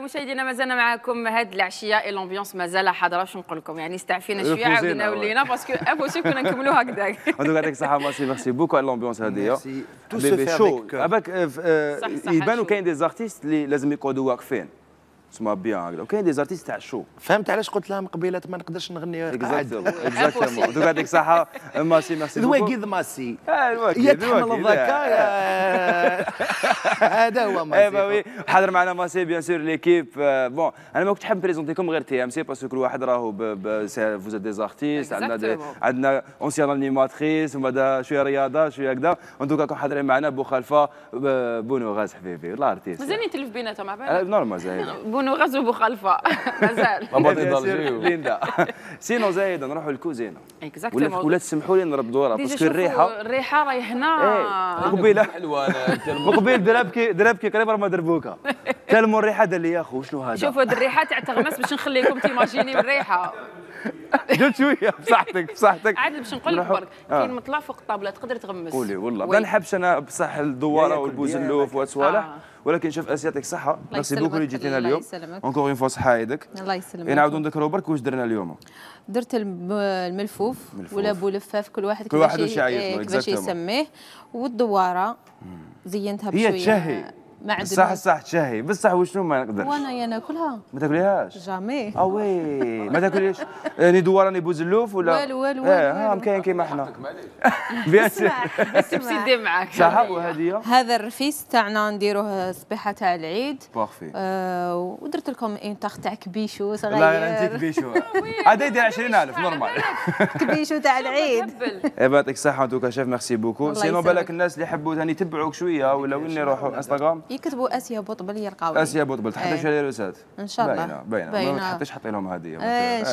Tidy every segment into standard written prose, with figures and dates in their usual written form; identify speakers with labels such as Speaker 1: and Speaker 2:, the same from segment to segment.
Speaker 1: مشاهدينا مازلنا معكم هذه العشيه لومبيونس مازال حاضره. واش نقول لكم يعني استعفينا شويه عاودنا ولينا باسكو امبوسيبل كنا نكملوا هكذاك.
Speaker 2: دوك يعطيك الصحه ميرسي بوكو على لومبيونس هذه.
Speaker 3: تو سو شو
Speaker 2: اباك يبانوا كاين دي زارتيست اللي لازم يقعدوا واقفين تسمى بيان هكذا، وكاين دي زارتيست تاع الشو.
Speaker 3: فهمت علاش قلت لها من قبيله ما نقدرش نغني قاعد.
Speaker 2: اكزاكتومون دوك يعطيك الصحه ماسي ميرسي بوكو.
Speaker 3: الواكيد ماسي
Speaker 2: يا
Speaker 3: تحمل الذكاء هذا هو ماسي.
Speaker 2: اي با وي حاضر معنا ماسي بيان سور ليكيب. بون انا ما كنتش حاب نبريزونتيكم غير تي ام سي باسكو كل واحد راهو فوز دي زارتيست، عندنا اونسيان انيماتريس وبعدا شويه رياضه شويه هكذا. ان دوكا كون حاضرين معنا بو خلفه بونو غاز حبيبي والله ارتيست
Speaker 1: مازال نتلف بيناتهم مع
Speaker 2: نورمال زايد
Speaker 1: بونو غاز وبو خلفه مازال
Speaker 2: ليندا. سينو زايد نروحوا للكوزينه
Speaker 1: اكزاكتومون
Speaker 2: ولا تسمحوا لي نردوا راه باسكو
Speaker 1: الريحه راهي هنا
Speaker 2: قبيله قبيل دربكي قريب ما دربوكا كلموا الريحه دار لي يا اخو شنو هذا.
Speaker 1: شوفوا هذه الريحه تاع تغمس باش نخليكم تيماجيني الريحه
Speaker 2: جات شويه بصحتك
Speaker 1: عاد باش نقول لك برك كاين مطلع فوق الطابله تقدر تغمس.
Speaker 2: قولي والله ما نحبش انا بصح الدواره والبوزلوف والصوالح ولكن شوف اسياتك صحه. ميرسي بوكو اللي جيتينا اليوم اونكور اون فوا صحه يدك.
Speaker 4: الله يسلمك.
Speaker 2: نعاودوا نذكروا برك واش درنا اليوم.
Speaker 4: درت الملفوف ولا بولفاف كل واحد
Speaker 2: كيفاش
Speaker 4: يسميه والدواره زينتها بشويه.
Speaker 2: هي تشهي صح تشهي بصح وشنو ما نقدرش.
Speaker 4: وانا ناكلها
Speaker 2: ما تاكليهاش
Speaker 4: جامي.
Speaker 2: وي ما تاكليش يعني دوار راني بوزلوف ولا
Speaker 4: والو
Speaker 2: كاين كيما حنا بيان سور
Speaker 1: سيدي معاك
Speaker 2: صح. وهذه
Speaker 4: هذا الرفيس تاعنا نديروه الصبيحه تاع العيد.
Speaker 2: بارفي.
Speaker 4: ودرت لكم اون طاخ تاع كبيشو صغير.
Speaker 2: لا انت كبيشو هذا يدير 20000 نورمال
Speaker 4: كبيشو تاع العيد.
Speaker 2: يعطيك الصحه دوكا شيف ميرسي بوكو. سينو بالك الناس اللي يحبوا ثاني يتبعوك شويه ولا وين يروحوا انستغرام
Speaker 4: يكتبوا اسيا بوطبل يلقاوني.
Speaker 2: اسيا بوطبل تحطي شي روسات
Speaker 4: ان شاء الله
Speaker 2: باينه ما تحطيش حطي لهم هديه
Speaker 4: ان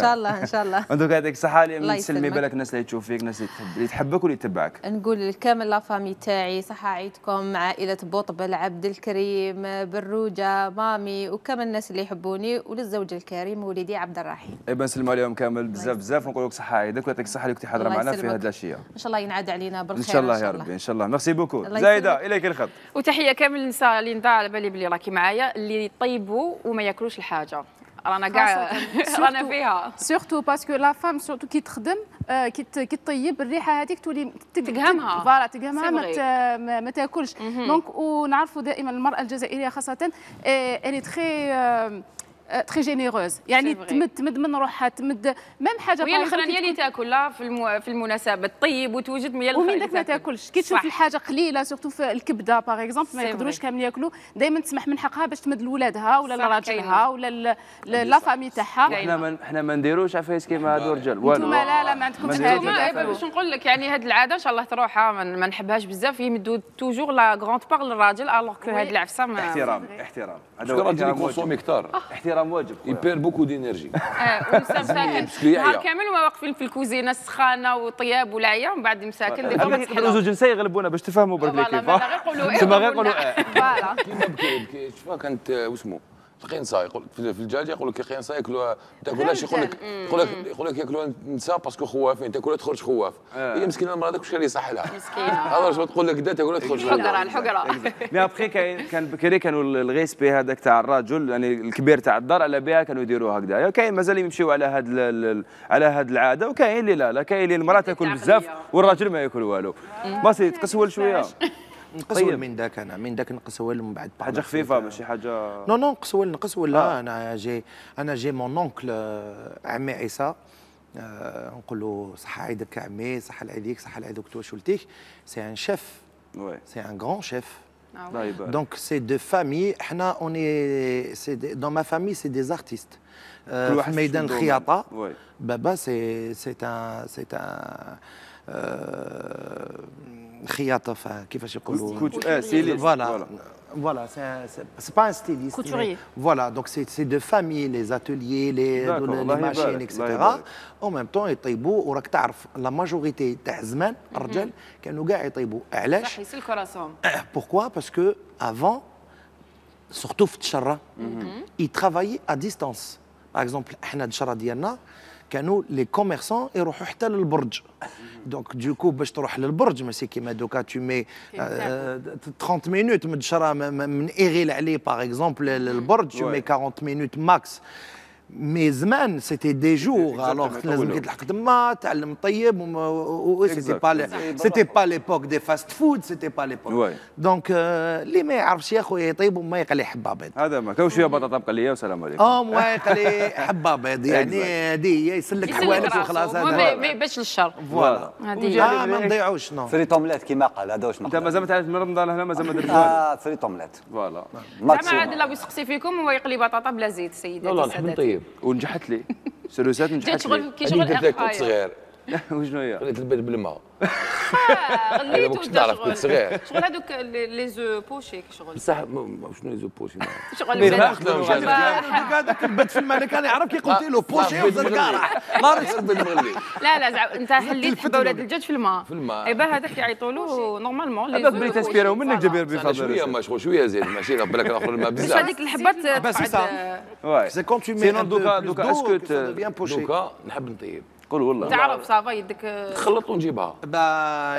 Speaker 4: شاء الله
Speaker 2: انتو يعطيك الصحه اللي تسلمي بالك الناس اللي تشوف فيك الناس اللي تحبك واللي تتبعك.
Speaker 4: نقول لكامل لافامي تاعي صحه عيدكم عائله بوطبل عبد الكريم بروجه مامي وكامل الناس اللي يحبوني وللزوج الكريم وليدي عبد الرحيم.
Speaker 2: اي نسلموا عليهم كامل بزاف ونقول لك صحه عيدك ويعطيك الصحه اللي كنتي حاضره معنا في هذه الاشياء.
Speaker 4: ان شاء الله ينعاد علينا بالخير
Speaker 2: ان شاء الله يا ربي ان شاء الله. ميرسي بوكو زايده اليك الخط.
Speaker 1: وتحيه كامل النساء ليندا على بالي بلي راكي معايا اللي يطيبوا وما ياكلوش الحاجه رانا كاع رانا فيها
Speaker 5: سورتو باسكو لا فام سورتو كي تخدم كي تطيب الريحه هذيك تولي
Speaker 1: تقهمها
Speaker 5: فوالا تقهمها ما تاكلش دونك ونعرفوا دائما المراه الجزائريه خاصه الي تري جينيروز يعني تمد من روحها تمد ميم حاجه
Speaker 1: وهي الاخرانيه اللي تاكل لا في المناسبه تطيب وتوجد
Speaker 5: ومن داك ما تاكلش كي تشوف الحاجه قليله سورتو في الكبده باغ اكزومبل ما يقدروش كامل ياكلوا دائما تسمح من حقها باش تمد لولادها ولا لراجلها ولا لا فامي تاعها.
Speaker 2: احنا ما نديروش عفايس كيما هادو الرجال والو.
Speaker 5: انتم لا ما عندكمش هذه.
Speaker 1: باش نقول لك يعني هذه العاده ان شاء الله تروح ما نحبهاش بزاف يمدوا توجور لا غروند بار للراجل الوغ كو هذه العفسه
Speaker 2: احترام
Speaker 6: هذا الراجل يكونسومي كثار.
Speaker 2: احترام واجب
Speaker 6: بوكو دينيرجي.
Speaker 1: مساكن نهار كامل وما واقفين في الكوزينه السخانه وطياب والعيا ومن بعد مساكن دي فما
Speaker 2: تحلو زوج نساء يغلبونا باش تفهموا برك كيف
Speaker 1: غير يقولوا
Speaker 2: تما غير يقولوا
Speaker 1: فوالا
Speaker 6: كيما بكي شوفها كانت واسمو القنصه يقول في الدجاج يقول لك القنصه ياكلوها ما تاكلهاش يقول لك ياكلوها النساء باسكو خوافين تاكلها تخرج خواف. هي مسكينه المراه هذاك واش كان يصح لها
Speaker 1: مسكينه
Speaker 6: هذا واش تقول لك دا تاكلها تخرج
Speaker 1: الحقره
Speaker 2: مي ابخي كان بكري كانوا الغيسبي هذاك تاع الرجل يعني الكبير تاع الدار على بها كانوا يديروها هكذا. كاين مازال يمشيو على هذه العاده وكاين اللي لا كاين اللي المراه تاكل بزاف والراجل ما ياكل والو. باسي تقسول شويه
Speaker 3: نقسول من ذاك من ذاك نقسول من بعد
Speaker 2: حاجه خفيفه ماشي حاجه
Speaker 3: نو نقسول لا انا جي مون اونكل عمي عيسى نقول له صحه عيدك عمي صحه عليك صحه على دكتور شولتيك سي ان شيف سي ان غران شيف دونك سي دو فامي حنا اوني سي دون ما فامي سي دي زارتيست في ميدان الخياطه بابا سي ان خياطه كيفاش يقولوا voilà c'est pas un styliste
Speaker 5: couturier
Speaker 3: voilà donc c'est de famille les ateliers les machines etc en même temps يطيبوا وراك تعرف لا ماجوريتي تاع زمان الرجال كانوا كاع يطيبوا علاش
Speaker 1: صح يسلكوا راسهم
Speaker 3: pourquoi parce que avant surtout في التشره ils travaillaient à distance par exemple احنا التشره ديالنا كانوا لي كوميرسون يروحوا حتى للبرج دونك دوكو باش تروح للبرج ماشي كيما دوكا تو مي 30 مينوت من ايغيل عليه باغ اكزومبل للبرج تو مي 40 مينوت ماكس. مي زمان سيتي دي جور الوغ لازم تلحق تما تعلم طيب سيتي با ليبوك دي فاست فود سيتي با ليبوك دونك اللي ما يعرفش يا خويا يطيب وما يقلي حبه بيض
Speaker 2: هذا ما كاين شويه بطاطا مقليه والسلام عليكم
Speaker 3: ما يقلي حبه بيض يعني هذه هي يسلك حوالك وخلاص
Speaker 1: هذا ما يبانش للشر
Speaker 3: فوالا هذه ما نضيعوش نو
Speaker 7: فريت اومليت كيما قال هذا واش
Speaker 2: انت مازال ما تعرف من رمضان هنا مازال ما درت والو
Speaker 7: فريت اومليت
Speaker 2: فوالا
Speaker 1: زعما عاد الله يسقسي فيكم هو يقلي بطاطا بلا زيت سيداتي
Speaker 6: والله نحب نطيب
Speaker 2: ونجحت لي سلوسات نجحت
Speaker 1: شغل كي
Speaker 6: شغل
Speaker 1: شغل
Speaker 6: كنت صغير
Speaker 2: وشنو هي؟
Speaker 6: خليت البيض بالماء
Speaker 1: غليت
Speaker 6: ما كنتش نعرف كنت صغير
Speaker 1: شغل هذوك لي زو بوشي شغل
Speaker 6: بصح شنو يزو بوشي
Speaker 1: شغل
Speaker 3: هذاك البيض في الماء كان يعرف كي قلت له بوشي وزاد كارح
Speaker 1: لا لا زعما انت حليت حبه ولاد الدجاج في الماء ايبا هذاك يعيطوا له نورمالمون
Speaker 2: هذاك بلي تسبيرو منك جبير بفضل
Speaker 6: شويه ما شويه زيد ماشي بالك ناخذ الماء بزاف
Speaker 1: هذيك الحبات
Speaker 3: بس سي كون تو مي
Speaker 2: سينون دوكا اسكو
Speaker 6: دوكا نحب نطيب
Speaker 2: قول والله
Speaker 1: تعرف صافا يدك
Speaker 6: تخلط ونجيبها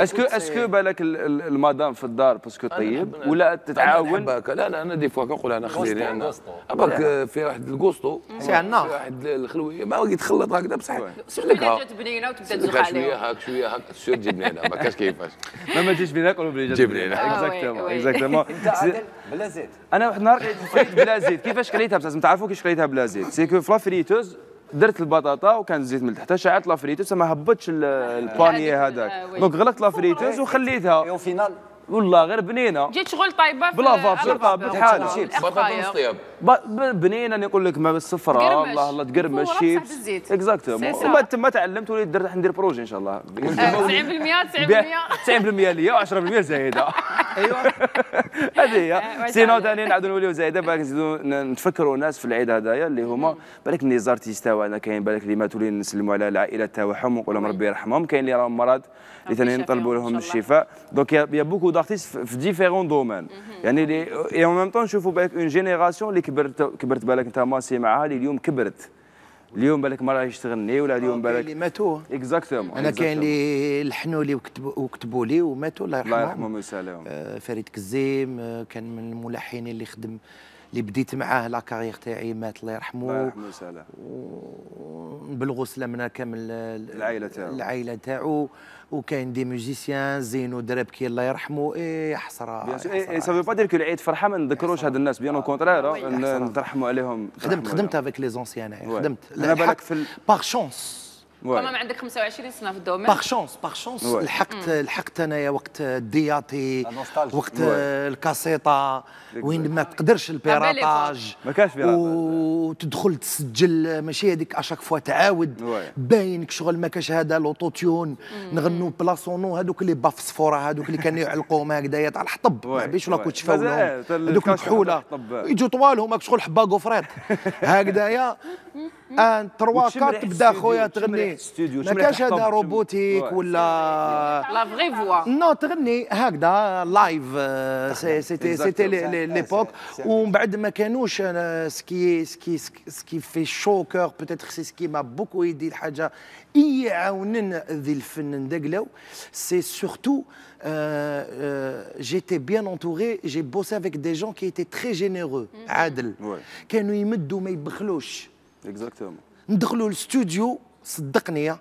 Speaker 2: اسكو بالك المدام في الدار باسكو طيب ولا تتعاون؟
Speaker 6: لا انا دي فوا كنقول انا خليني انا باك في واحد الكوستو
Speaker 3: سي عندنا
Speaker 6: في واحد الخلويه ما يتخلط هكذا بصح
Speaker 1: سلكها جات بنينه وتبدا تزوق عليها
Speaker 6: شويه هاك سير جيب بنينه ما كاش كيفاش
Speaker 2: ما تجيش بينا ناكلوا بلي
Speaker 6: جيب بنينه
Speaker 2: اكزاكتومون
Speaker 7: بلا زيت.
Speaker 2: انا واحد النهار كليت بلا زيت كيفاش كليتها بصح تعرفوا كيفاش كليتها بلا زيت سي كو في لافريتوز درت البطاطا وكان الزيت من تحت شعلت لافريتوز ما هبطش البانيي هذاك دونك غلقت لافريتوز وخليتها
Speaker 7: او فينال
Speaker 2: والله غير بنينه
Speaker 1: جيت شغل طايبه
Speaker 2: بلا فابور طابت حالها
Speaker 6: بطاطا نص طياب
Speaker 2: بنينه نقول لك ما بالصفراء الله الله تقرمش شيبس اكزاكتومون وما تما تعلمت وليت درت ندير بروجي ان شاء الله
Speaker 1: 90%
Speaker 2: 90% ليا و10% زايده ايوه هذه هي سينو ثاني نعاودوا نوليو زايده بالك نزيدوا نتفكروا الناس في العيد هذايا اللي هما بالك لي زارتيست تاعنا كاين بالك اللي ماتوا لي نسلموا على العائلات تاعهم ونقول لهم ربي يرحمهم كاين اللي راهم مرض اللي ثاني نطلبوا لهم الشفاء دونك يا بوكو دارتيست في ديفيرون دومين يعني اي اون ميم طون نشوفوا بالك اون جينيراسيون اللي كبرت بالك انت ماسي معاها اللي اليوم كبرت اليوم بالك ما راهيش تغني ولا اليوم بالك
Speaker 3: اللي ماتوا
Speaker 2: اكزاكتومون
Speaker 3: انا كاين اللي لحنوا لي وكتبوا لي وماتوا الله يرحمهم
Speaker 2: الله يرحمهم ويسالمهم
Speaker 3: فريد كزيم كان من الملحنين اللي خدم اللي بديت معاه لا كارير تاعي مات الله يرحمه
Speaker 2: الله يرحمه ويسالمه
Speaker 3: نبلغوا سلامنا كامل
Speaker 2: العائله
Speaker 3: تاعو وكاين دي ميوزيسيان زينو دربكي الله يرحمه حسره
Speaker 2: سافو با دير كو العيد فرحه ما نذكروش هاد الناس بيان او كونترير نترحموا عليهم
Speaker 3: خدمت افيك لي زونسيان خدمت
Speaker 2: انا بالك في
Speaker 3: باغ شونس
Speaker 1: كما عندك 25 سنه في الدومين
Speaker 3: باغ شونس لحقت انايا وقت الدياتي وقت الكاسيطه وين ما تقدرش البيراطاج
Speaker 2: ما كانش بيراطاج
Speaker 3: وتدخل تسجل ماشي هذيك اشاك فوا تعاود باينك شغل ما كاش هذا لوطوتيون نغنوا بلاصونو هذوك اللي بافصفوره هذوك اللي كانوا يعلقوهم هكذايا تاع الحطب ما بيش ولا كنت تفاولهم هذوك الكحوله يجوا طوالهم هاك شغل حبه قفرات هكذايا ان 3 4 تبدا خويا تغني ما كاش هذا روبوتيك ولا
Speaker 1: لا فري فوا
Speaker 3: نو تغني هكذا لايف سيتي ليبوك ومن بعد ما كانوش سكي في شو كور بوتيتر سي سكي ما بوكو يدي الحاجه يعاونن ذي الفن ندقلو سي سورتو j'étais bien entouré, j'ai bossé avec des gens qui étaient très généreux, عادل كانوا يمدوا ما يبخلوش
Speaker 2: اكزاكتومون
Speaker 3: ندخلوا الاستوديو صدقني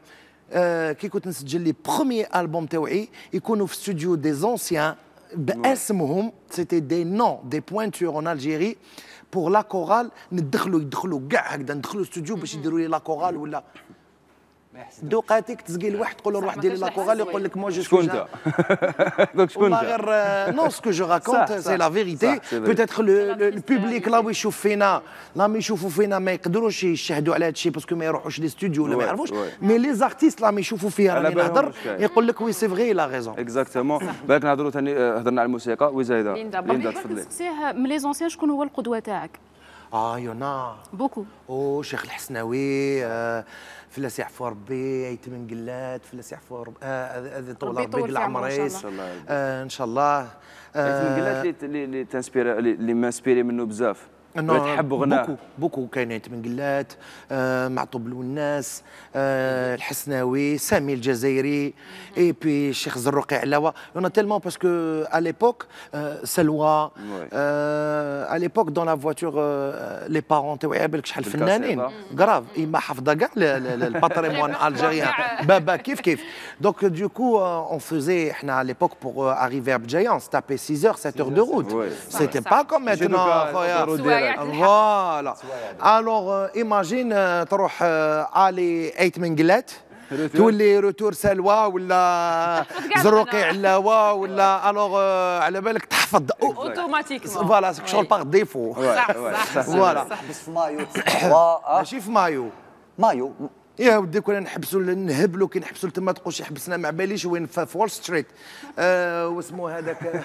Speaker 3: كي كنت نسجل لي بروميي البوم تاوعي يكونوا في استوديو دي زونسيان باسمهم سيتي دي نون دي بوينتور اون الجيري بور لا كورال يدخلوا كاع هكذا ندخلوا الاستوديو باش يديروا لي لا كورال ولا دوقاتك تسقي واحد تقول له روح دير لي لا كورال يقول لك مو جو
Speaker 2: شكون انت دونك شكون
Speaker 3: انت غير نو سكو جو راكونت سي لا فيريتي بوتيتر البوبليك لا يشوف فينا لا ما يشوفوا فينا ما يقدروش يشهدوا على هذا الشيء باسكو ما يروحوش لي ستوديو ولا ما يعرفوش مي لي زارتيست لا ما يشوفوا فيها راني نهضر يقول لك وي سي فغي لا ريزون
Speaker 2: اكزاكتومون بالك نهضروا ثاني هضرنا على الموسيقى وزايده
Speaker 5: ليندا تفضلي نسقسيه من لي زونسيان شكون هو القدوه تاعك
Speaker 3: يونا
Speaker 5: بوكو
Speaker 3: شيخ الحسناوي فلاس يعفو ربي ايتم من قلات فلاس يعفو ربي هذه طول ربي قل عمريس ان شاء الله
Speaker 2: من قلات اللي تنسبيري اللي مانسبيري منه بزاف تحب غناه؟
Speaker 3: بوكو كاينين تمنقلات، معطوب الوناس، الحسناوي، سامي الجزائري، اي بي الشيخ زروقي علاوه. يون تيلمون باسكو ا ليبوك سلوى ا ليبوك دون لا فواتور لي بارون تاوعي بالك شحال فنانين كراف ما حافظه كاع الباتريمون الجيريان بابا كيف دونك دوكو اون فوزي احنا ا ليبوك بور اريفي ا بجايان ستابي 6 heures 7 heures de route. C'était pas comme maintenant خويا. فوالا الوغ ايماجين تروح الي 8 منقلات تولي روتور سلوى ولا زروقي علاوه ولا الوغ على بالك تحفظ
Speaker 1: اوتوماتيكمون
Speaker 3: فوالا شغل باغ ديفو. فوالا
Speaker 7: بس في مايو
Speaker 3: ماشي في مايو يا ودي كنا نحبسوا نهبلوا كي نحبسوا تما تقول شي حبسنا ما باليش وين في وول ستريت واسمو هذاك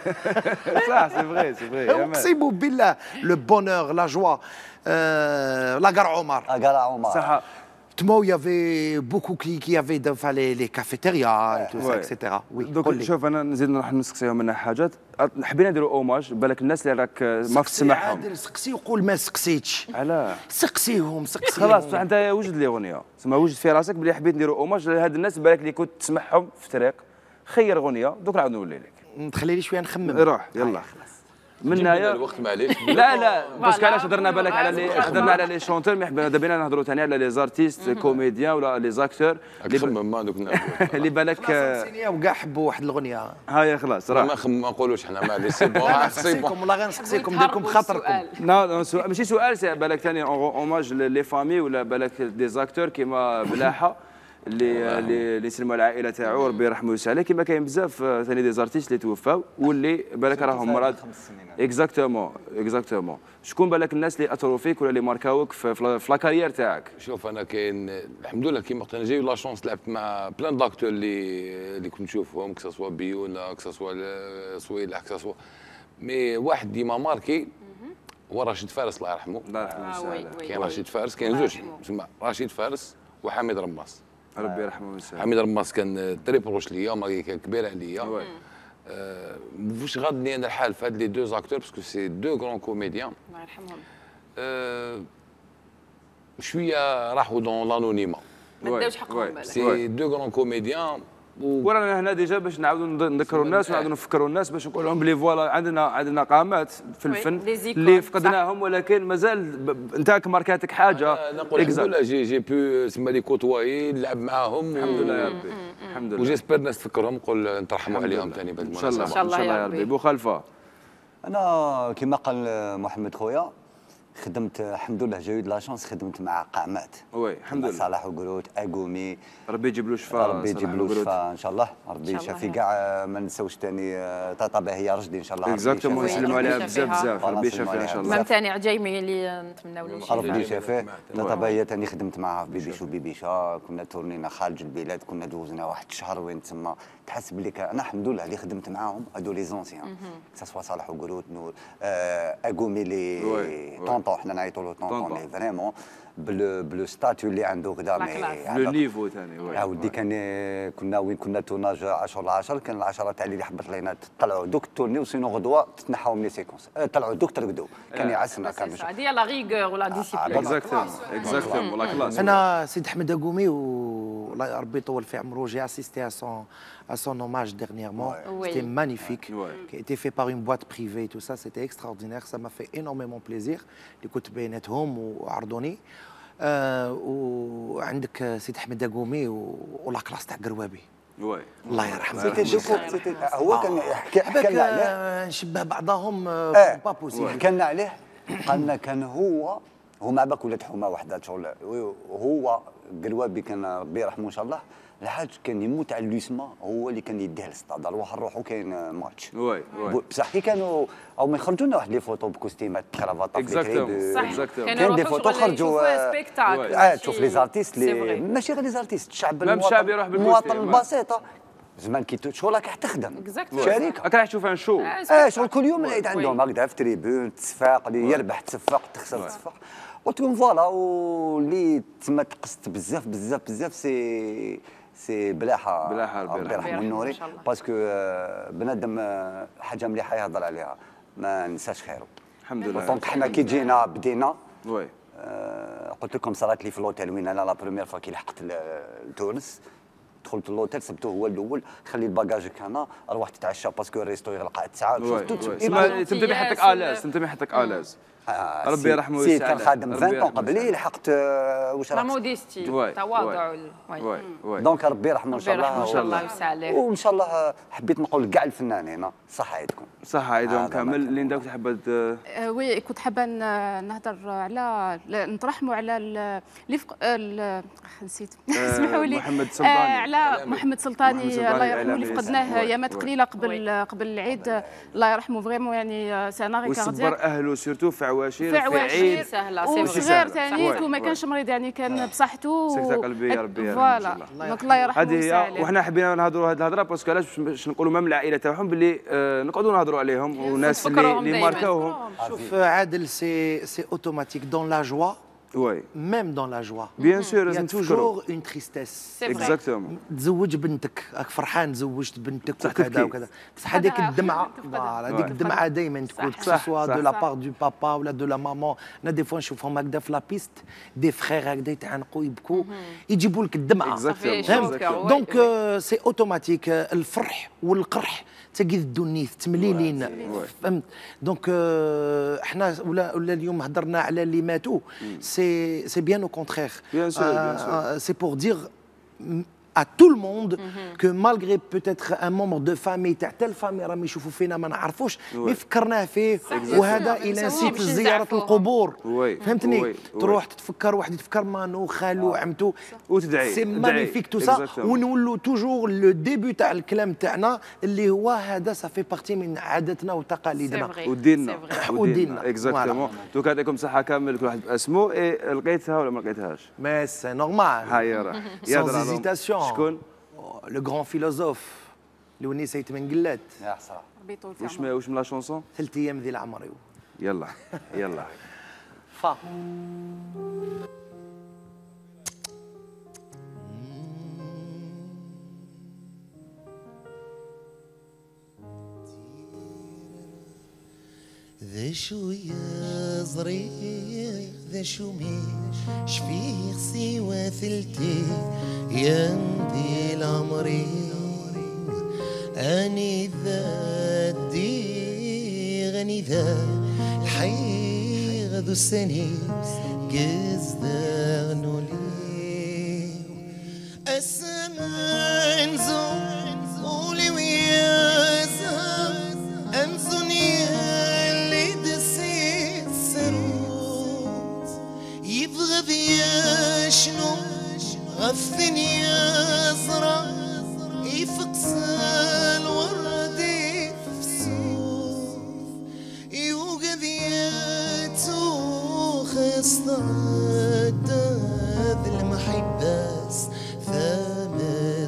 Speaker 2: صح سي فغي
Speaker 3: اقسم بالله لو بونور لا جوا لاكار عمر
Speaker 2: صح
Speaker 3: تما يافي بوكو كي يافي لي كافيتيريا تو سا اكسيتيرا. وي
Speaker 2: دوك شوف انا نزيد نروح نسقسيهم منها حاجات حبينا نديروا اوماج بالك الناس اللي راك ما تسمعهم
Speaker 3: سقسي وقول ما سقسيتش
Speaker 2: علاه
Speaker 3: سقسيهم
Speaker 2: خلاص انت وجد لي اغنيه تسمى وجد في راسك بلي حبيت نديروا اوماج لهاد الناس بالك اللي كنت تسمعهم في الطريق خير اغنيه دوك نعاود نولي لك
Speaker 3: تخلي لي شويه نخمم
Speaker 2: روح يلا من هنايا
Speaker 6: الوقت معليش
Speaker 2: لا باسكو علاش هضرنا بالك على لي شونتور مي حبينا دابا نهضروا ثاني على لي زارتيست كوميديان ولا لي زاكتور اللي بالك
Speaker 3: وكاع حبوا واحد الاغنيه
Speaker 2: هاي خلاص راه
Speaker 6: ما نقولوش حنا معليش سي بون
Speaker 3: نسقسيكم والله غير نسقسيكم ديركم بخاطركم.
Speaker 2: ماشي سؤال بالك ثاني اوماج لي فامي ولا بالك دي زاكتور كيما بلاحه اللي سلموا العائله تاعو ربي يرحمه ويسع عليه كيما كاين بزاف ثاني دي زارتيست اللي توفاو واللي بالك راهم مرض اكزاكتومون شكون بالك الناس اللي اثروا فيك ولا اللي ماركاوك في لا كارير تاعك؟
Speaker 6: شوف انا كاين الحمد لله كيما قلت انا جاي لا شونس لعبت مع بلان داكتور اللي كنت نشوفهم كسا بيونا كسا صويلح كسا مي واحد ديما ماركي هو رشيد فارس الله يرحمه.
Speaker 2: الله يرحمه.
Speaker 6: كاين رشيد فارس كاين زوج تسمى رشيد فارس وحميد رماس
Speaker 2: ربي يرحمه ويسع.
Speaker 6: حميد رماس كان تري بروش ليا ماركي كان كبير عليا. واش غادني انا الحال في هاد لي دو زاكتور باسكو سي دو غران كوميديان
Speaker 1: الله يرحمهم.
Speaker 6: شويه راحوا دون لانونيما
Speaker 1: ما داوش حقهم بالك.
Speaker 6: سي دو غران كوميديان
Speaker 2: ورانا هنا ديجا باش نعاودوا نذكروا الناس ونعاودوا نفكروا الناس باش نقول لهم بلي فوالا عندنا قامات في الفن اللي فقدناهم ولكن مازال انت ماركاتك حاجه.
Speaker 6: نقول الحمد لله جي بو تسمى لي كوتواي نلعب معاهم
Speaker 2: الحمد لله يا ربي الحمد لله
Speaker 6: وجيسبر الناس تفكرهم نقول نترحموا عليهم ثاني بعد
Speaker 2: ان شاء الله يا ربي. بو خلفه
Speaker 7: انا كما قال محمد خويا خدمت الحمد لله جاي لا شونس خدمت مع قامات
Speaker 2: وي الحمد لله
Speaker 7: صلاح وقروت اقومي
Speaker 2: ربي يجيب له شفاء
Speaker 7: ربي يجيب له شفاء ان شاء الله ربي يشافي كاع ما نساوش ثاني طاطا باهيه رشدي ان شاء الله
Speaker 2: اكزاكتومون يسلموا عليها بزاف ربي يشافيها ان شاء الله.
Speaker 1: مام ثاني عجيمي اللي نتمناو له الشفاء
Speaker 7: ربي يشافيه طاطا باهيه ثاني خدمت معها في بيبيشو بيبيشا كنا تورنينا خارج البلاد كنا دوزنا واحد الشهر وين تسمى تحس بلي انا الحمد لله اللي خدمت معاهم هادو لي زونسيان سوا صالح وقروت نور اقومي لي طونطون حنا نعيطوا له طونطون لي فريمون بلو ستاتيو اللي عنده كذا
Speaker 2: لو نيفو ثاني
Speaker 7: عاودي كان كنا وين كنا تورناج 10/10 كان العشره تاع اللي حبط لينا طلعوا دوك تورني وسينو غدوه تتنحاو من لي سيكونس طلعوا دوك ترقدوا كان يعسنا كان
Speaker 1: هذه لا ريغور ولا ديسيبلين
Speaker 2: اكزاكتومون لا كلاس.
Speaker 3: انا سيد احمد اقومي والله ربي يطول في عمره جي اسيستي à son hommage dernièrement. C'était magnifique, qui a été fait par une boîte privée, tout ça, c'était extraordinaire, ça m'a fait énormément plaisir. اللي كنت بيناتهم وعرضوني وعندك سيد احمد اقومي ولا كلاس تاع قروابي الله يرحمه.
Speaker 7: هو كان حكى لنا عليه
Speaker 3: نشبه بعضهم با بوسيبل.
Speaker 7: حكى لنا عليه قالنا كان هو مع باك ولاد حومه وحده شغل هو قروابي كان ربي يرحمه ان شاء الله الحاج كان يموت على اللوسما هو اللي كان يديه للسطاد نروح نروحوا كاين ماتش بصح كي كانوا او ما يخرجوا لنا واحد لي فوتو بكوستيمات كرافات
Speaker 2: اكزاكتومون
Speaker 7: كاين دي فوتو خرجوا تشوف لي زارتيست اللي ماشي غير لي زارتيست الشعب المواطن البسيطه زمان كي شغل راك تخدم شركه
Speaker 2: راك تشوف ان شو
Speaker 7: شغل كل يوم العيد عندهم هكذا في تريبون تصفاق اللي يربح تصفق تخسر تصفق قلت لهم فوالا واللي تما تقصت بزاف سي بلاحه ربي يرحمه النوري باسكو بنادم حاجه مليحه يهضر عليها ما ننساش خيره
Speaker 2: الحمد لله.
Speaker 7: دونك حنا كي جينا بدينا
Speaker 2: وي
Speaker 7: قلت لكم صارت لي في لوتيل وين انا لا بروميير فوا كي لحقت لتونس. دخلت اللوتيل سبته هو الاول، خلي الباجاجك هنا، روح تتعشى باسكو الريستو يغلق على 9.
Speaker 2: تم يحطك الاز، تم يحطك الاز. ربي يرحمه ويسعده.
Speaker 7: كان خادم 20 قبلي، لحقت واش
Speaker 1: لا موديستي تواضع.
Speaker 7: دونك ربي يرحمه ان شاء الله.
Speaker 1: ان شاء الله يوسع عليه.
Speaker 7: وان شاء الله حبيت نقول كاع الفنانين صحه عيدكم.
Speaker 2: صحه عيدهم كامل. ليندا كنت حابه
Speaker 5: وي كنت حابه نهضر على نترحموا على نسيت اسمحوا لي
Speaker 2: محمد سلطاني.
Speaker 5: على محمد سلطاني الله يرحمه اللي فقدناه ايامات قليله قبل العيد. الله يرحمه فريمون يعني سنه غير
Speaker 2: وصبر اهله سيرتو في عواشير
Speaker 5: في عيد
Speaker 1: سهله
Speaker 5: وصغير ثاني وما كانش مريض يعني كان بصحته
Speaker 2: سكتة قلبيه ربي
Speaker 5: فوالا دونك الله يرحمه
Speaker 2: ويسع عليه. وحنا حبينا نهضروا هذه الهضره باسكو علاش باش نقولوا ميم العائله تاعهم باللي نقعدوا نهضروا عليهم وناس اللي ماركاوهم.
Speaker 3: شوف عادل سي اوتوماتيك دون لا جوا.
Speaker 2: Oui.
Speaker 3: Même dans la joie.
Speaker 2: Bien sûr,
Speaker 3: il y a toujours une tristesse.
Speaker 2: Exactement.
Speaker 3: تزوج بنتك، راك فرحان زوجت بنتك وكذا وكذا، بصح هذيك الدمعة هذيك الدمعة دايما تكون سوا دو لا بار دو بابا ولا دو لا مامون. انا دي فوا نشوفهم هكذا في لا بيست دي فخير هكذا يتعانقوا يبكوا يجيبوا لك الدمعة. دونك سي اوتوماتيك الفرح والقرح تقيدوا النيث تمليلين فهمت. دونك احنا ولا اليوم هضرنا على اللي ماتوا سي بيان او كونترير. سي بور دير à tout le monde que malgré peut-être un membre de famille تاع تال فامي راهم يشوفوا فينا ما نعرفوش مي فكرناه فيه وهذا الى نسيت زياره القبور فهمتني. تروح تتفكر واحد يتفكر مانو خالو عمتو
Speaker 2: وتدعي
Speaker 3: سي مانيفيك تو سا. ونولوا توجور لو ديبي تاع الكلام تاعنا اللي هو هذا صافي بارتي من عاداتنا وتقاليدنا
Speaker 2: وديننا اكزاكتومون. دوك يعطيكم صحه كامل كل واحد باسمه. لقيتها ولا ما لقيتهاش؟
Speaker 3: مي سي نورمال.
Speaker 2: هاي راه
Speaker 3: sans hésitation.
Speaker 2: شكون؟
Speaker 3: لو غران فيلوزوف اللي ونيسيت من قلات.
Speaker 7: يا حسره.
Speaker 2: واش من لا شونسون؟
Speaker 3: 3 ايام ذي العمر.
Speaker 2: يلا يلا
Speaker 3: فا
Speaker 8: ذا شو يا صغير ذا شو شفيه سوى ثلتي يا مدي العمري اني ذا غني ذا الحي غدو السني قز ذا غنولي السمان زون قولي ويا زهر انزوني شنو غفني أزرع يفقس الوردي في السوف يوقظ ياتو خصنا ذا المحبس ثام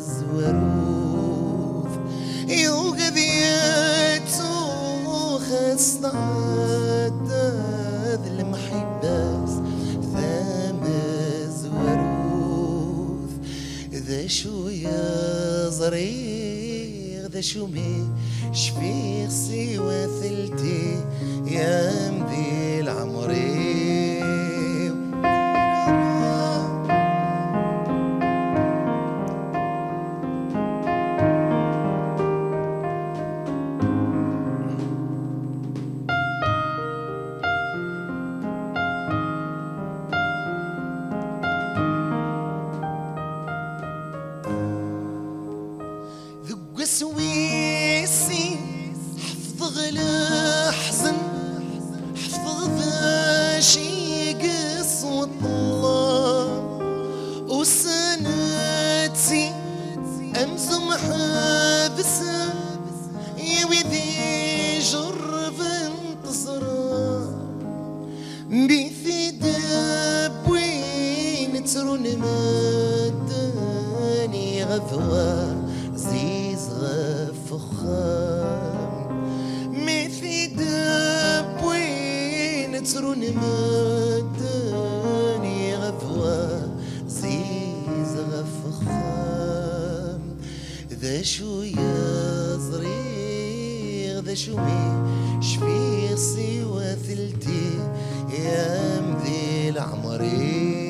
Speaker 8: الزوروف يوقظ ياتو خصنا ذا المحبس ذا شو يا صغير ذا شو شفيق سوى ثلتي يا مدي العمري ذا شومي شفيق سوى ثلتي يا مذيل عمري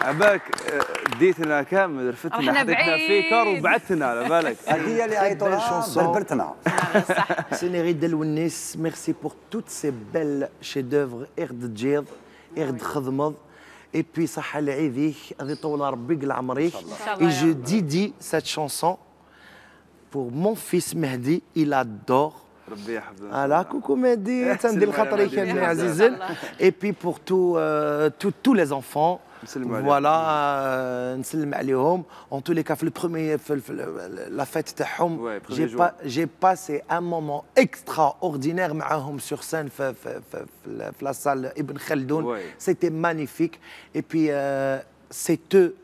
Speaker 2: عباك ديتنا كامل رفتنا حطيتنا في كار وبعثنا على بالك.
Speaker 7: هي اللي عيطوا لها بربرتنا.
Speaker 3: سينيري ديال ونيس ميرسي بور توت سي بيل شي دوفر ارد تجيض ارد خدمض اي بي صحه لعيديك غادي يطول ربي قل عمريك. اي جو ديدي سات شانسون بور مون فيس مهدي il adore.
Speaker 2: ربي يحفظك.
Speaker 3: فوالا كوكو مهدي تندير خاطرك يا عزيزين. اي بي بور تو لي زونفون. Voilà, نسلم عليهم. En tous les cas, في البروميي la fête تاعهم j'ai passé un moment extraordinaire معاهم sur scène في la salle Ibn Khaldoun. C'était magnifique. Et puis c'est eux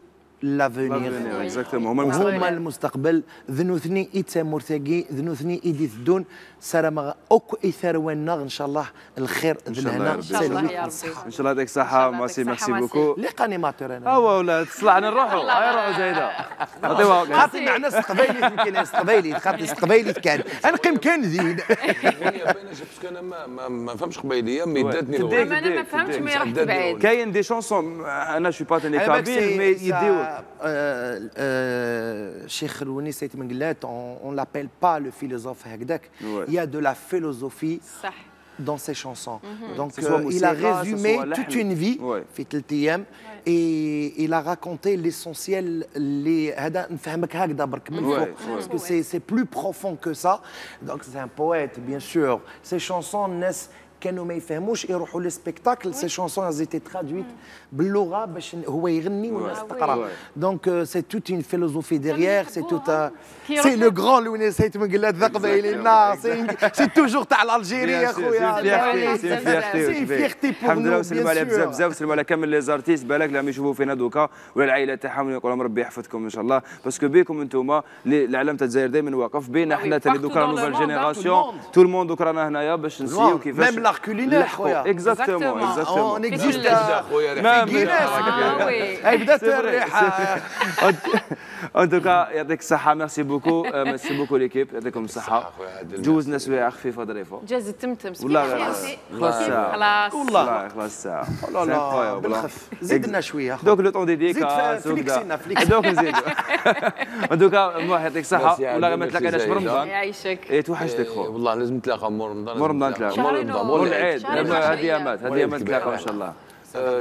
Speaker 3: l'avenir.
Speaker 2: Exactement.
Speaker 3: هما المستقبل. ذنوثني إيتا مرتقي ذنوثني إيدي ثدون سلام أوك إثرونا إن شاء الله الخير ذنهنا.
Speaker 1: إن شاء الله يا ربي.
Speaker 2: إن شاء الله يعطيك الصحة ماسي ميرسي بوكو.
Speaker 3: لي قانيماتور أنا.
Speaker 2: ولا طلعنا نروحوا هاي روحوا زايدة.
Speaker 3: خاطر معنا استقبالي يمكن استقبالي خاطر استقبالي كان أنا قيم كان زين.
Speaker 6: أنا ما فهمش قبيلية ميداتني.
Speaker 1: أنا ما فهمتش مي رحت بعيد.
Speaker 2: كاين دي شونسون أنا شو با تاني كابير مي يديو.
Speaker 3: Cheikh Rouni Saïd Menglet, on l'appelle pas le philosophe Hagdak. Il y a de la philosophie dans ses chansons. Donc il a résumé toute une vie, et il a raconté l'essentiel, parce que c'est plus profond que ça. Donc c'est un poète, bien sûr. Ses chansons naissent كانوا ما يفهموش يروحوا للسبيكتاكل سي شونسون زيتي ترادويت باللغه باش هو يغني والناس تقرا دونك سي توت اون فيلوزوفي ديغيير سي توت سي لو غران لوني سيت من قلات ذا قبايلي الناس سي توجور تاع الجيري يا خويا سي فيرتي
Speaker 2: الحمد لله وسلموا على بزاف بزاف وسلموا على كامل لي زارتيست بالك لما يشوفوا فينا دوكا ولا العائله تاعهم يقول لهم ربي يحفظكم ان شاء الله باسكو بيكم انتم العالم تاع الجزائر دائما واقف بينا حنا تاني دوكا نوفال جينيراسيون تو الموند دوكا رانا هنايا باش نسيو كيفاش
Speaker 3: l'art culinaire خويا
Speaker 2: اكزاكتومون
Speaker 3: on existe
Speaker 6: خويا
Speaker 3: هاي بدات الريحه
Speaker 2: ان توكا يعطيك الصحه ميرسي بوكو ميرسي بوكو ليكيب يعطيكم الصحه جوزنا سوايع خفيفه ظريفه
Speaker 1: جاز التمتم
Speaker 2: والله خلاص والله خلاص الساعه
Speaker 3: لا بالخف زدنا شويه
Speaker 2: دوك لو طون ديديكا دوك نزيدو ان توكا الله يعطيك الصحه والله ما تلاقيناش في رمضان
Speaker 1: يعيشك
Speaker 2: توحشتك خو
Speaker 6: والله لازم نتلاقى مور رمضان
Speaker 2: مور العيد هديامات نتلاقاو ان شاء الله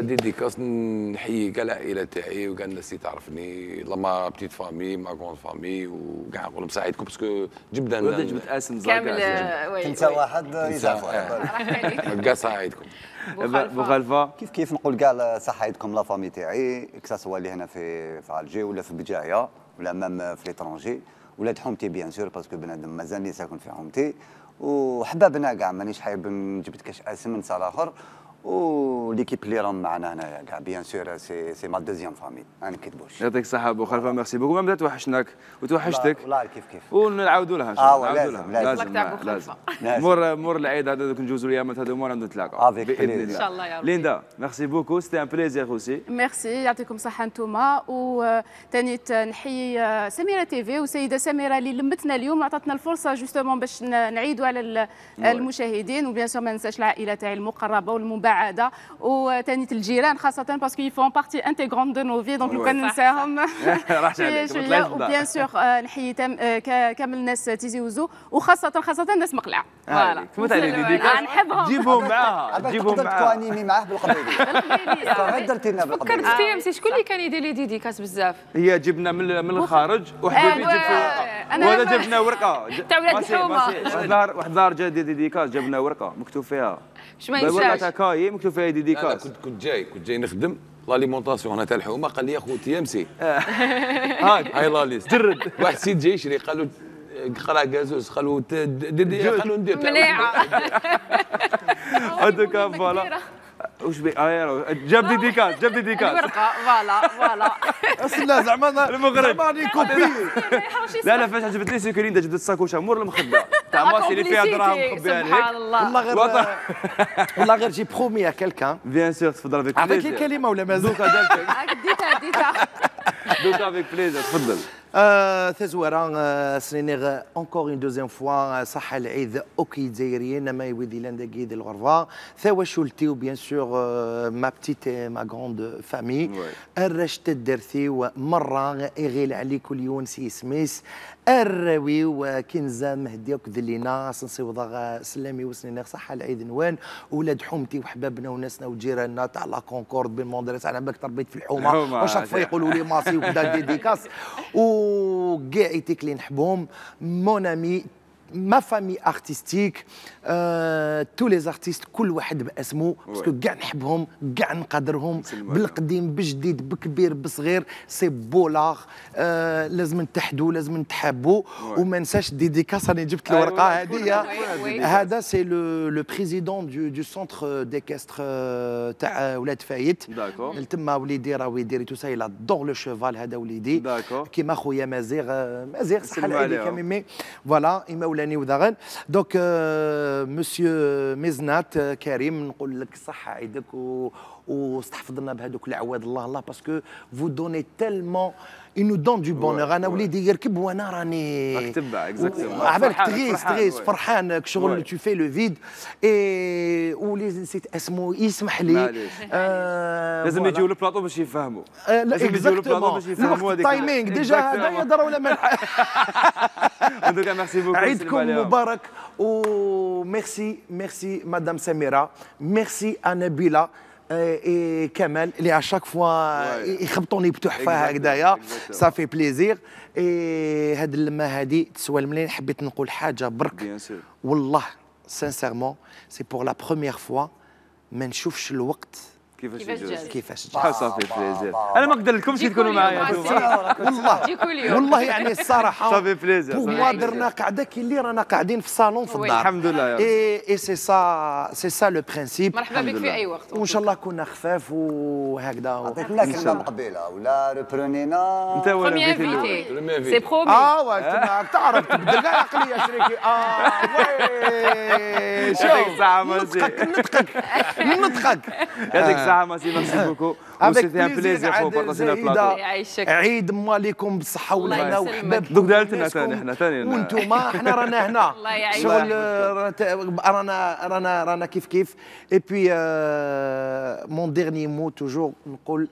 Speaker 6: ديديكاس نحيي كاع العائله تاعي وكاع الناس اللي تعرفني ما بتيت فامي ما كون فامي وكاع نقول لهم ساعدكم باسكو جبدا
Speaker 2: جبت اسم
Speaker 1: كامل
Speaker 7: تنسى واحد يزعف واحد
Speaker 6: كاع ساعدكم
Speaker 2: بوخلفه
Speaker 7: كيف نقول كاع صحايدكم لا فامي تاعي كسا اللي هنا في الجي ولا في بجايه ولا مام في ليترونجي ولاد حومتي بيان سور باسكو بنادم مازالني ساكن في حومتي وحبابنا كاع مانيش حايب نجبد كاش اسم نسى الاخر وليكيب اللي راهم معنا هنايا كاع بيان سور سي ما دوزيام فامي ما نكذبوش.
Speaker 2: يعطيك الصحة بو خلفة، ميرسي بوكو. ما بدات توحشناك وتوحشتك
Speaker 7: والله كيف
Speaker 2: ونعاودوا لها. نعاودوا لها
Speaker 7: لازم.
Speaker 2: مور العيد هذا دوك نجوزوا الايامات هذوما نتلاقاو
Speaker 7: باذن
Speaker 1: الله. ان شاء الله يا ربي.
Speaker 2: ليندا ميرسي بوكو، سيتي ان بليزير اوسي.
Speaker 5: ميرسي، يعطيكم الصحة انتوما. وثاني نحيي سميرة تيفي وسيدة سميرة اللي لمتنا اليوم وعطتنا الفرصة جوستومون باش نعيدوا على المشاهدين. وبيان سور ما ننساش العائلة تاعي المقربة والمبعدة وثاني الجيران خاصة باسكو يفون بارتي انتيغرون دو نو في، دونك لو كان ننساهم شوية. وبيان سور نحيي كامل الناس تيزي وزو وخاصة الناس مقلعة.
Speaker 1: فوالا
Speaker 5: نحبهم.
Speaker 2: جيبهم معاها،
Speaker 7: جيبهم معاها توانيمي معاه بالقبيلية. غير درتي لنا بالقبيلية.
Speaker 1: فكرت فيها مسي شكون اللي كان يدير لي ديديكاس بزاف؟
Speaker 2: هي جبنا من الخارج وحبيبي جبت وهذا جبنا ورقة
Speaker 1: تاع ولاد الحومة.
Speaker 2: واحد دار جا ديديكاس جبنا ورقة مكتوب فيها
Speaker 1: واش ما ينساش
Speaker 2: كاي مكتوب فيها ديديكاس.
Speaker 6: كنت جاي نخدم لاليمونطاسيون هنا تاع الحومه، قال لي اخوتي امسي هاي لا ليست جرد. واحد سيد جاي يشري قال له قرا كازوز، قالوا ندير
Speaker 1: مليحه
Speaker 2: هذوك فوالا واش بي جاب ديديكاس
Speaker 1: الورقه فوالا
Speaker 3: لا زعما
Speaker 2: المغرب
Speaker 3: زعما كوبي.
Speaker 2: لا فاش عجبت لي سيكورين جبت الساكوشه مور المخده تاع ماسي اللي فيها دراهم مخبيها لك.
Speaker 1: سبحان الله.
Speaker 3: والله غير جي برومي ا كيلكان
Speaker 2: بيان سور تفضل بك
Speaker 3: عطيك الكلمه ولا مازال؟
Speaker 1: ديتها
Speaker 2: دوكا افيك بليزير تفضل.
Speaker 3: ثزورا سنينغ اونكور اون دوزيام فوا صحة العيد اوكي دزايريين ما يودي لنا داكيد الغرفه ثوا شولتي وبيان سور ما بتيت ما غروند فامي الرشت الدرثي ومره يغيل عليك كل يوم سي سميس الراوي وكنزه مهديك ذلينا سنصيوضا سلامي وسنينغ صحة العيد نوان ولاد حومتي وحبابنا وناسنا وجيراننا تاع لا كونكورد بالمدرسه. انا باك تربيت في الحومه واش يقولوا لي ماسي وكذا ديديكاس وكاع ايتيك اللي نحبهم مون امي ما فامي ارتستيك تو لي زارتيست كل واحد باسمه باسكو كاع نحبهم كاع نقدرهم بالقديم بالجديد بكبير بصغير سي بولاغ لازم نتحدوا لازم نتحابوا وما ننساش ديديكاس راني جبت الورقه هذه. هذا سي لو بريزيدون دو سونتر ديكستر تاع ولاد فايت تما وليدي راه يدير تو سا لا دور لو شيفال. هذا وليدي كيما خويا مازيغ صحه العيد كامل فوالا مولاني وداغن. دونك مسيو مزنات كريم نقول لك صحة عيدك واستحفظنا بهذوك العواد الله باسكو فو دوني تيلمون إنو دون دو بونور. انا وليدي يركب وانا راني
Speaker 2: تبع اكزاكتومون
Speaker 3: عبالك تغيس فرحان شغل تو في لو فيد اي ولي نسيت اسمه يسمح لي
Speaker 2: لازم يجيو للبلاطو باش يفهموا.
Speaker 3: لازم يجيو للبلاطو باش يفهموا هذيك التايمينغ ديجا هذا يهضر ولا ما
Speaker 2: دوكا ميرسي بوكو
Speaker 3: عيدكم مبارك وميرسي مدام سميرة ميرسي نبيلة اي كمال اللي اشاك فوا يخبطوني بتحفه هكذايا صافي بليزير. هاد اللمه هادي تسوى الملايين. حبيت نقول حاجه برك والله سانسيرمون سي بور لا بروميير فوا ما نشوفش الوقت كيفاش جا.
Speaker 2: صافي بليزير. انا ما نقدر لكمش تكونوا معايا
Speaker 3: والله يعني الصراحه
Speaker 2: صافي بليزير.
Speaker 3: بور موا درنا قعده كي اللي رانا قاعدين في الصالون في الدار
Speaker 2: الحمد لله.
Speaker 3: اي سي سا لو برينسيپ.
Speaker 1: مرحبا بك في اي وقت
Speaker 3: وان شاء الله كنا خفاف وهكذا.
Speaker 7: عطيتنا كلمه مقبله ولا ريبرونينا
Speaker 2: انت ولا
Speaker 1: انفيتي سي برومي.
Speaker 3: انت تعرف تبدل كاع عقليه شريكي. وي
Speaker 2: شوف ساعه
Speaker 3: نطقك
Speaker 2: هذيك الساعه ميرسي بوكو وسيتي ان بليزير فو بارطاجينا البلاطو.
Speaker 1: عيد
Speaker 3: مواليكم بالصحه والهنا وحباب
Speaker 2: دوك دارتنا ثاني
Speaker 3: وانتوما حنا رانا هنا شغل رانا كيف اي بي مون ديرني مو توجور نقول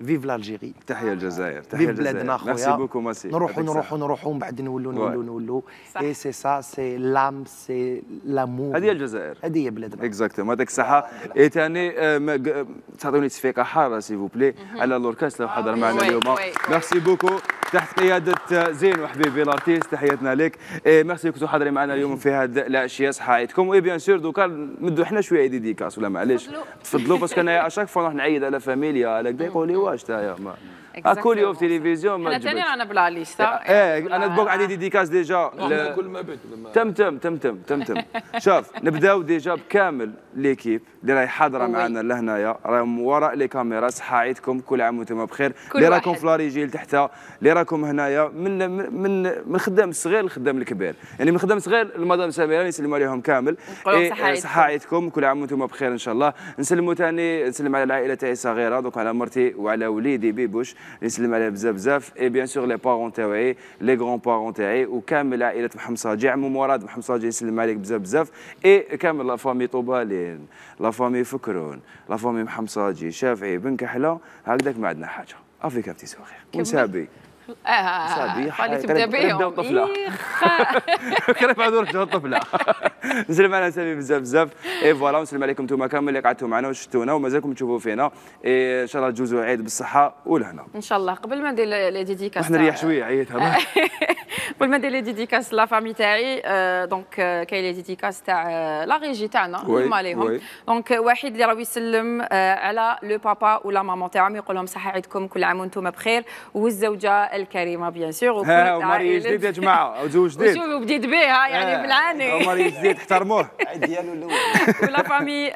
Speaker 3: فيف لالجيري.
Speaker 2: تحية الجزائر.
Speaker 3: فيف بلادنا خويا.
Speaker 2: ميرسي بوكو ماسي.
Speaker 3: نروحوا من بعد نولوا اي سي سا سي لام سي لامور.
Speaker 2: هذه الجزائر.
Speaker 3: هذه هي بلادنا.
Speaker 2: اكزاكتومون هذاك الصحة. اي ثاني تعطوني تصفيقة حارة سي فوبلي على لوركاس لو حضر معنا اليوم. ميرسي بوكو تحت قيادة زين وحبيبي الارتيست تحياتنا لك. ميرسي كنتوا حاضرين معنا اليوم في هذه العشية صحة عيدكم. وي بيان سور دوكا نمدوا حنا شوية ديديكاس ولا معليش تفضلوا باسكو انا اشاك فوا نروح نعيد على فاميليا على كدا يقول لي واش تايا كل في تلفزيون ما
Speaker 1: انا ثاني رانا بلا ليستا.
Speaker 2: انا دوك عندي ديديكاس ديجا.
Speaker 6: كل ما بيت
Speaker 2: تم. شوف نبداو ديجا بكامل ليكيب اللي راهي حاضره معنا لهنايا، راهم وراء لي كاميرا. صحه عيدكم، كل عام وانتم بخير. اللي راكم في لاريجي تحت، اللي راكم هنايا من خدام الصغير للخدام الكبير، يعني من خدام الصغير المدام سميره نسلموا عليهم كامل. صحه عيدكم، كل عام وانتم بخير ان شاء الله. نسلموا ثاني، نسلم على العائله تاعي الصغيره، دونك على مرتي وعلى وليدي بيبوش نسلم عليه بزاف. اي بيان سور لي بارون تاعي، لي غران بارون تاعي، وكامل عائله محمد صاجي، عمو مراد محمد صاجي نسلم عليك بزاف. اي كامل لا فامي طوبالين، لا فامي فكرون، لا فامي محمد صاجي، شافعي بن كحله، هكذاك ما عندنا حاجه. افيك بتي سوغير ونسابي.
Speaker 1: سابي خلي تبدا بهم.
Speaker 2: قريب عاد رجعوا الطفله. نسلم على سامي بزاف. اي فوالا، ونسلم عليكم انتم كامل اللي قعدتوا معنا وشفتونا ومازالكم تشوفوا فينا. ان شاء الله تجوزوا عيد بالصحه والهنا
Speaker 1: ان شاء الله. قبل ما ندير لي ديديكاس
Speaker 2: احنا نريح شويه عييتها.
Speaker 1: قبل ما ندير لي ديديكاس لا فامي تاعي، دونك كاين لي ديديكاس تاع لا ريجي تاعنا هما ليهم. دونك واحد اللي راه يسلم على لو بابا ولا ماما تاعهم، يقول لهم صحه عيدكم، كل عام وانتم بخير، والزوجه الكريمه بيان سور، وكل
Speaker 2: عائله جديد يا جماعه، زوج جديد
Speaker 1: وشوفوا بديت بها يعني بالعاني.
Speaker 2: ماري جديد احترموه.
Speaker 7: ديالو الاول
Speaker 1: ولا فامي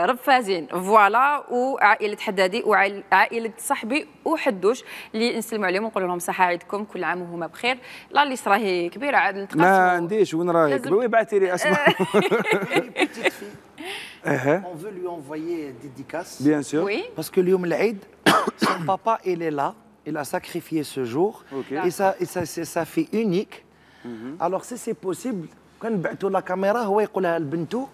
Speaker 1: رفازين فوالا، وعائله حدادي وعائله صاحبي وحدوش اللي نسلموا عليهم ونقول لهم صحه عيدكم، كل عام وهما بخير. لا ليست راهي كبيره عاد نتقاسموا.
Speaker 2: ما عنديش وين راهي كبيره، بعثي لي اسماء.
Speaker 3: On veut lui envoyer dédicace.
Speaker 2: Bien sûr.
Speaker 1: Oui.
Speaker 3: Parce que اليوم العيد son papa il est là, il a sacrifié ce jour. Et ça fait unique. Alors si c'est possible كان نبعثوا لا كاميرا هو يقولها لبنته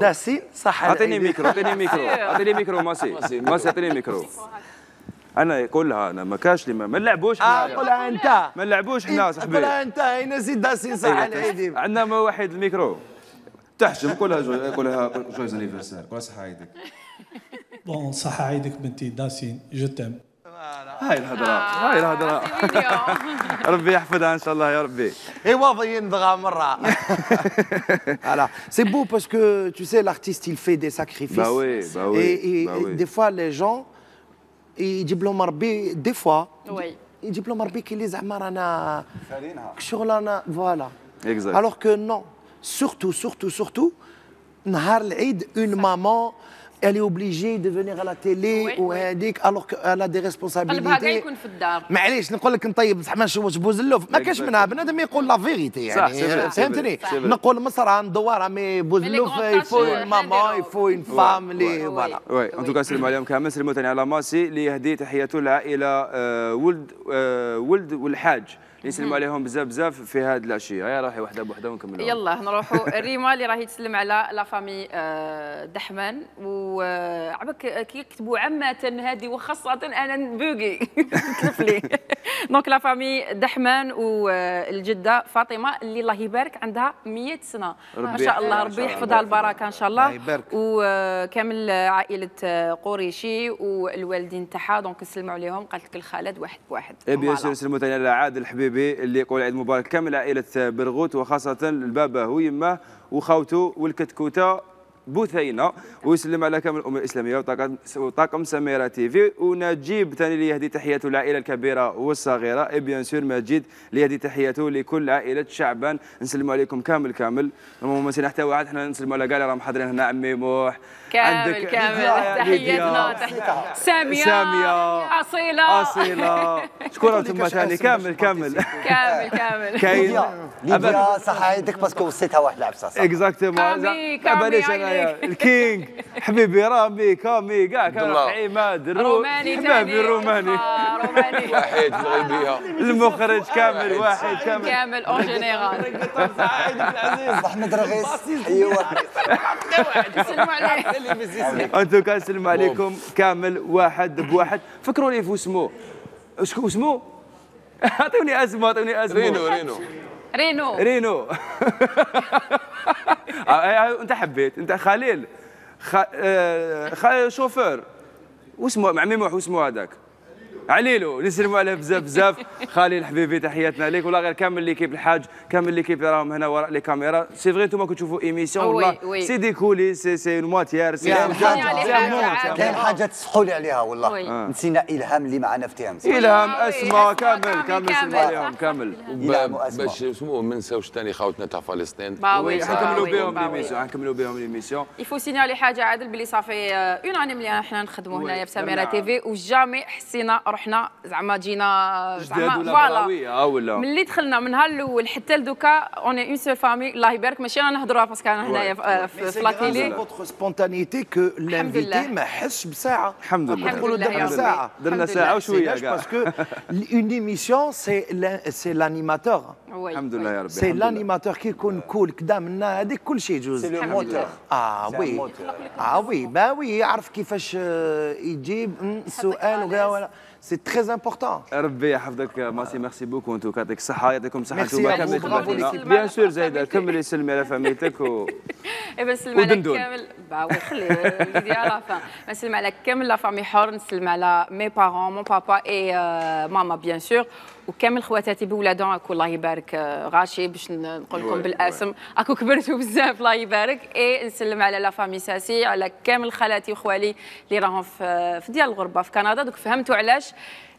Speaker 3: داسين صح.
Speaker 2: اعطيني ميكرو ماسي اعطيني ميكرو. انا يقولها انا ما كاش لي ما نلعبوش حنا.
Speaker 3: قولها انت.
Speaker 2: ما نلعبوش حنا صاحبي.
Speaker 3: قولها انت هنا زيد داسين صح العيد.
Speaker 2: عندنا ما واحد الميكرو تحشم. قولها جويز انيفرسير، قولها صحه عيدك.
Speaker 9: بون صحه عيدك بنتي داسين، جو تيم.
Speaker 2: هاي الهضره ربي يحفظها ان شاء الله يا ربي.
Speaker 3: ايوا ينضغى مره. Voilà, c'est beau parce que tu sais l'artiste il fait des sacrifices.
Speaker 2: Bah oui.
Speaker 3: Et des fois les gens يجيب لهم ربي des fois يجيب لهم ربي كي لي زعما رانا شغلنا فوالا. Alors que non, surtout نهار العيد une maman elle est obligée de venir à la télé وهذيك alors qu'elle a des responsabilités.
Speaker 1: قلبها كاع يكون في الدار.
Speaker 3: معليش نقول لك نطيب زعما نشوش بوزلوف ما كاش منها، بنادم يقول لا فيغيتي يعني فهمتني. نقول مصر ندوار مي بوزلوف يفو ماما يفو اون فام لي فوالا.
Speaker 2: وي ان توكا نسلموا عليهم كامل. نسلموا ثاني على ماسي اللي يهدي تحياته للعائله ولد والحاج، يسلموا عليهم بزاف في هذه العشيه. هيا راحي وحده بوحده ونكملوا.
Speaker 1: يلا نروحوا الريما اللي راهي تسلم على لا فامي دحمان، وعبك كي يكتبوا عامه هذه وخاصه انا نبوقي تلف لي. دونك لا فامي دحمان والجده فاطمه اللي الله يبارك عندها 100 سنه ما شاء الله، ربي يحفظها البركه ان شاء الله. وكامل عائله قريشي والوالدين تاعها، دونك نسلموا عليهم. قالت لك الخالد واحد بواحد.
Speaker 2: بيان سور نسلموا ثاني على عادل حبيبي اللي يقول عيد مبارك كامل عائله برغوت، وخاصه البابا ويماه وخاوته والكتكوته بوثينه، ويسلم على كامل الامه الاسلاميه وطاقم سميره تي في. ونجيب ثاني اللي يهدي تحياته للعائله الكبيره والصغيره. اي بيان سور مجيد اللي يهدي تحياته لكل عائله شعبان. نسلموا عليكم كامل. ما نسينا حتى واحد، حنا نسلموا على كاع اللي راهم حاضرين هنا. عمي موح
Speaker 1: كامل تحياتنا ساميه اصيله
Speaker 2: شكون انتم ثاني كامل كاين
Speaker 7: ليبيا صح عيدك باسكو وصيتها واحد العبسه.
Speaker 2: اكزاكتومون الكينغ حبيبي رامي كامي كاع كان عماد
Speaker 1: روماني
Speaker 2: حبيبي الروماني
Speaker 6: واحد في الغيبيه
Speaker 2: المخرج كامل واحد
Speaker 1: كامل اون جينيرال.
Speaker 7: احمد رغيس ايوا
Speaker 1: نسلموا عليه.
Speaker 2: انتو كنسلم عليكم كامل واحد بواحد. فكروني في اسمه شكون اسمه؟ اعطوني اسمه رينو. انت حبيت انت خليل شوفير واسمه مع ميموح واسمه هذاك عليلو نسلموا عليه بزاف بزاف. خالي الحبيبي تحياتنا ليك، والله غير كامل ليكيب الحاج، كامل ليكيب اللي راهم هنا وراء لي كاميرا. سي فغي انتم كتشوفوا ايميسيون والله سي دي كوليس، سي اون مواتيير، سي
Speaker 7: كاين حاجه تصحوا لي عليها والله. نسينا الهام اللي معنا في تيام.
Speaker 2: الهام اسماء كامل نسلموا عليهم كامل.
Speaker 6: باش اسمو ما نساوش ثاني خاوتنا تاع فلسطين.
Speaker 2: حنكملوا بهم ليميسيون.
Speaker 1: يفو سينيالي حاجه عادل بلي صافي اون اني ملي حنا نخدموا هنايا في سميره تيفي وجامي حسينا روحنا زعما جينا
Speaker 2: فوالا ولا
Speaker 1: ملي دخلنا من نهار الاول حتى لدوكا اوني اون سول فامي. الله يبارك ماشي انا نهضروها باسكو انا هنايا في لاكيلي.
Speaker 3: فوتر سبونتانيتي كو لانفيتي ما حسش بساعه.
Speaker 2: الحمد لله
Speaker 3: نقولوا
Speaker 2: درنا ساعه وشويه كاع
Speaker 3: باسكو اون ايميسيون سي لانيماتور.
Speaker 2: الحمد لله يا ربي.
Speaker 3: سي لانيماتور كي يكون كول كدا منا هذيك كل شيء يجوز.
Speaker 7: سي لو موتور.
Speaker 3: وي با وي يعرف كيفاش يجيب السؤال ولا سي تري امبورطون.
Speaker 2: ربي يحفظك ماسي، ميرسي بوكو. انتو يعطيك الصحه، يعطيكم الصحه. انتوما كاملين خدمتونا بيان سور. زايده كملي سلمي على فاميلتك
Speaker 1: اي نسلم على كامل باوي خلي وليدي على فان. نسلم على كامل لا فامي حور، نسلم على مي بارون مون بابا اي ماما بيان سور، وكامل خواتاتي بولادهم. اكو الله يبارك غاشي باش نقول لكم بالاسم اكو كبرتوا بزاف الله يبارك. اي نسلم على لا فامي ساسي، على كامل خالاتي وخوالي اللي راهم في ديال الغربه في كندا. دوك فهمتوا علاش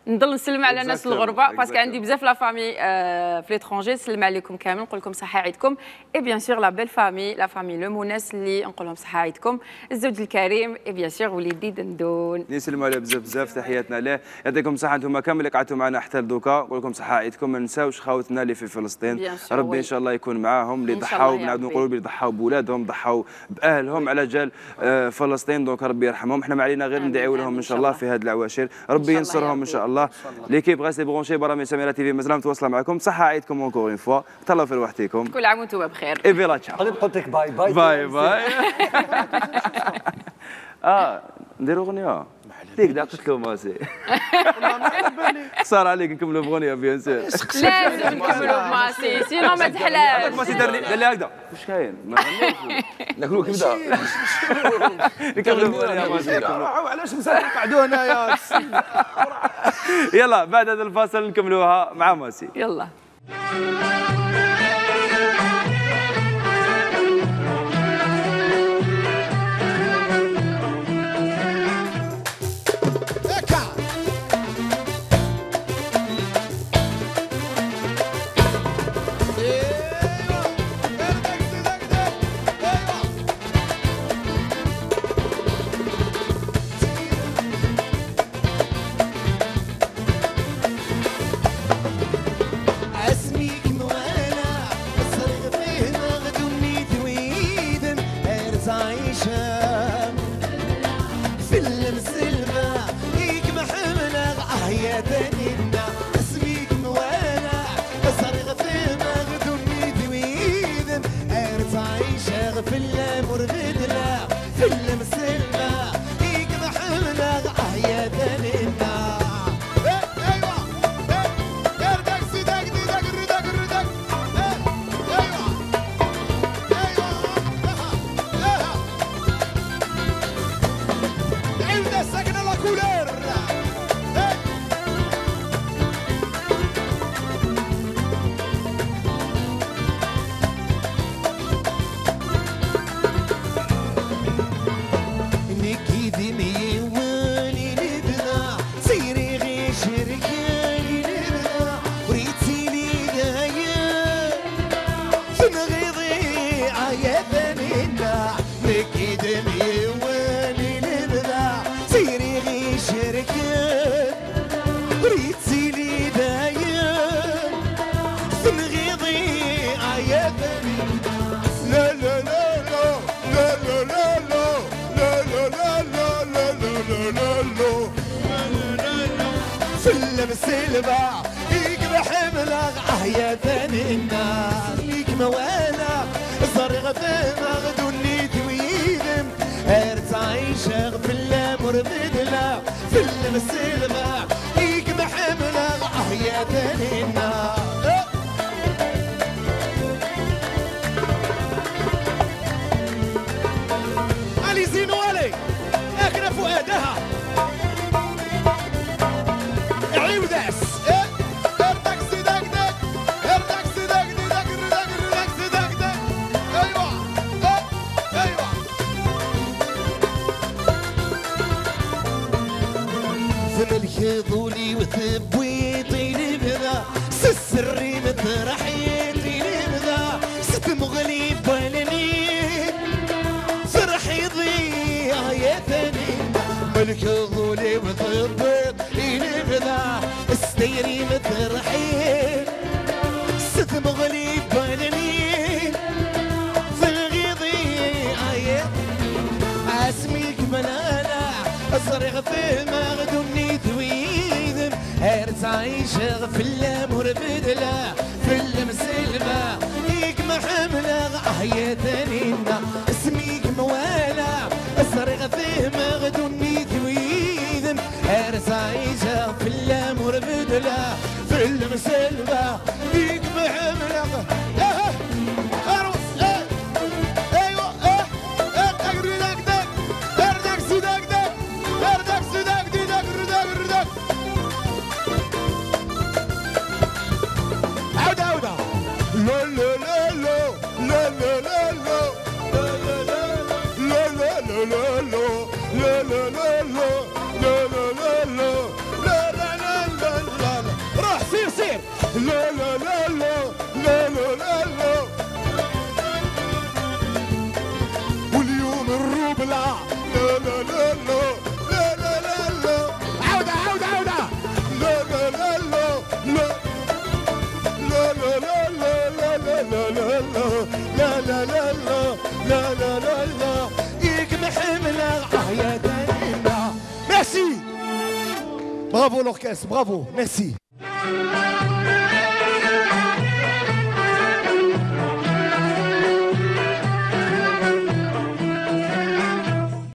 Speaker 1: نضل نسلم على الناس الغربه باسكو عندي بزاف لا فامي في ليترونجي. نسلم عليكم كامل، نقول لكم صحه عيدكم. اي بيان سور لا بيل فامي، لا فامي لو موناس اللي نقول لهم صحه عيدكم. الزوج الكريم اي بيان سور وليدي دندون
Speaker 2: نسلموا عليه بزاف بزاف. تحياتنا له، يعطيكم الصحه. انتم كامل اللي قعدتوا معنا حتى لدوكا، نقول لكم صحه عيدكم. ما نساوش خاوتنا اللي في فلسطين، ربي ان شاء الله يكون معاهم، اللي ضحاو نعاودوا نقولوا اللي ضحاو بولادهم، ضحاو باهلهم على جال فلسطين. دونك ربي يرحمهم. احنا ما علينا غير ندعيو لهم ان شاء الله في هذه العواشر، ربي ينصرهم ان شاء الله. ليكيب غاسي برونشي برامج سميره تيفي مازال متواصله معكم. صحه عيدكم اونكور اون فوا، تهلاو في روحتكم،
Speaker 1: كل عام وانتم بخير.
Speaker 2: اي فيلا تشاو.
Speaker 7: غادي نقول لك باي باي
Speaker 2: باي باي. نديروا اغنيه ديك دا قلت له ماسي. صار عليك نكملوا بغنيه بيان سور.
Speaker 1: لازم نكملوا بماسي سينو ما تحلاش.
Speaker 2: ماسي دار لي هكذا واش كاين ما غنيش
Speaker 6: ناكلوا كبده.
Speaker 2: نكملوا بغنيه ماسي.
Speaker 3: علاش مازال نقعدوا هنايا؟
Speaker 2: يلا بعد هذا الفاصل نكملوها مع ماسي.
Speaker 1: يلا
Speaker 8: السلبة يقبح ملغ يا ثاني الناس ليك موالا صرغ في مغدوني تويدم ارتعيش في الامر بدلا في السلبة يقبح ملغ يا ثاني الناس علي زينو علي اكنا فؤادها يضولي وثبويطي لبدا سسري مترحيتي لبدا ست مغلي بالني فرحي ضيع يا ثاني ملك يضولي وثبويطي لبدا استيري مترحيت ست مغلي بالني في الغيضي اسميك منانا الصريخ في مغدوني ثويذم هرس عايشة في اللامور بدلا في المسلبة ليك محملة يا ثانينا اسميك موالا الصريخ في مغدوني ثويذم هرس عايشة في اللامور بدلا في المسلبة ليك محملة روح سير سير لا لا لا لا لا لا لا لا واليوم الربلع لا لا لا لا لا لا لا لا عودة عودة عودة لا لا لا لا لا لا لا لا لا لا لا لا لا لا لا لا لا لا لا يك محملة يا دنيا. ميرسي برافو l'orchestre, bravo, merci.